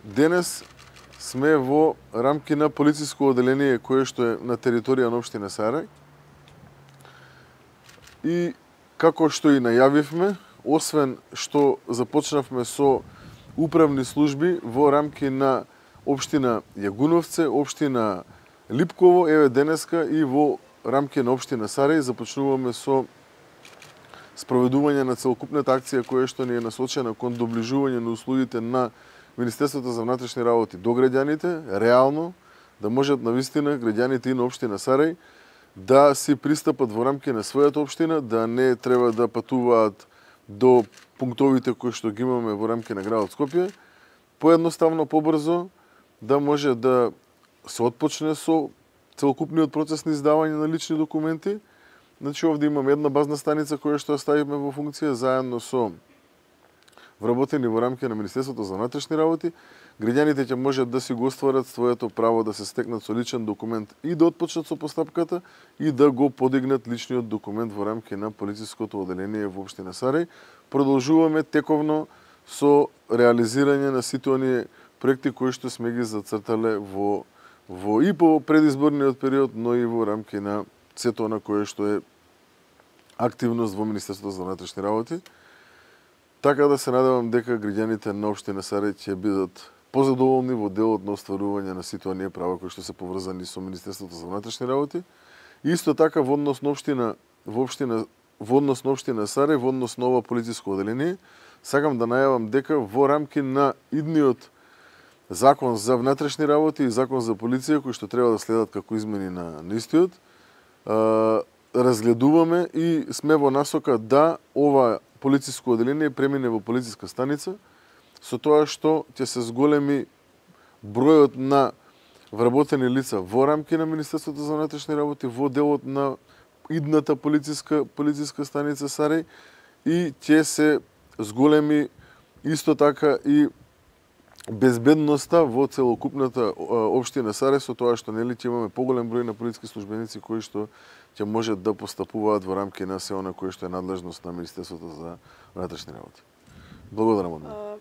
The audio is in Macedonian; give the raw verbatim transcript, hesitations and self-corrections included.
Денес сме во рамки на полициско оделение кое што е на територија на општина Сарај. И како што и најавивме, освен што започнавме со управни служби во рамки на општина Јагуновце, општина Липково, еве денеска и во рамки на општина Сарај започнуваме со спроведување на целокупната акција која што ни е насочена кон доближување на услугите на Министерството за внатрешни работи до граѓаните, реално да можат навистина граѓаните и на општина Сарај да си пристапат во рамки на својата општина, да не треба да патуваат до пунктовите кои што ги имаме во рамки на градот Скопје, поедноставно, побрзо, да може да се отпочне со целокупниот процес на издавање на лични документи. Значи, овде имаме една базна станица која што ја ставивме во функција заедно со вработени во рамки на Министерството за внатрешни работи. Граѓаните ќе можат да си го остварат своето право да се стекнат со личен документ и да отпочнат со постапката и да го подигнат личниот документ во рамки на полициското оделение во општина Сарај. Продолжуваме тековно со реализирање на сите оние проекти кои што сме ги зацртале во во и по предизборниот период, но и во рамки на сето она кое што е активност во Министерството за внатрешни работи. Така да се надевам дека граѓаните на општина Сарај ќе бидат позадоволни во делот на остварување на сите оние права кои што се поврзани со Министерството за внатрешни работи. И исто така во однос на општина во општина во однос на општина Сарај, во однос на ова полициско оделение, сакам да најавам дека во рамки на идниот Закон за внатрешни работи и Закон за полиција, кои што треба да следат како измени на, на истиот, разгледуваме и сме во насока да ова полициско оделение премине во полициска станица, со тоа што ќе се зголеми бројот на вработени лица во рамки на Министерството за внатрешни работи во делот на идната полициска полициска станица Сарај и ќе се зголеми исто така и безбедноста во целокупната општина Сарај, со тоа што нели ќе имаме поголем број на полициски службеници кои што ќе можат да постапуваат во рамки на се она кое што е надлежност на Министерството за внатрешни работи. Благодарам од мене.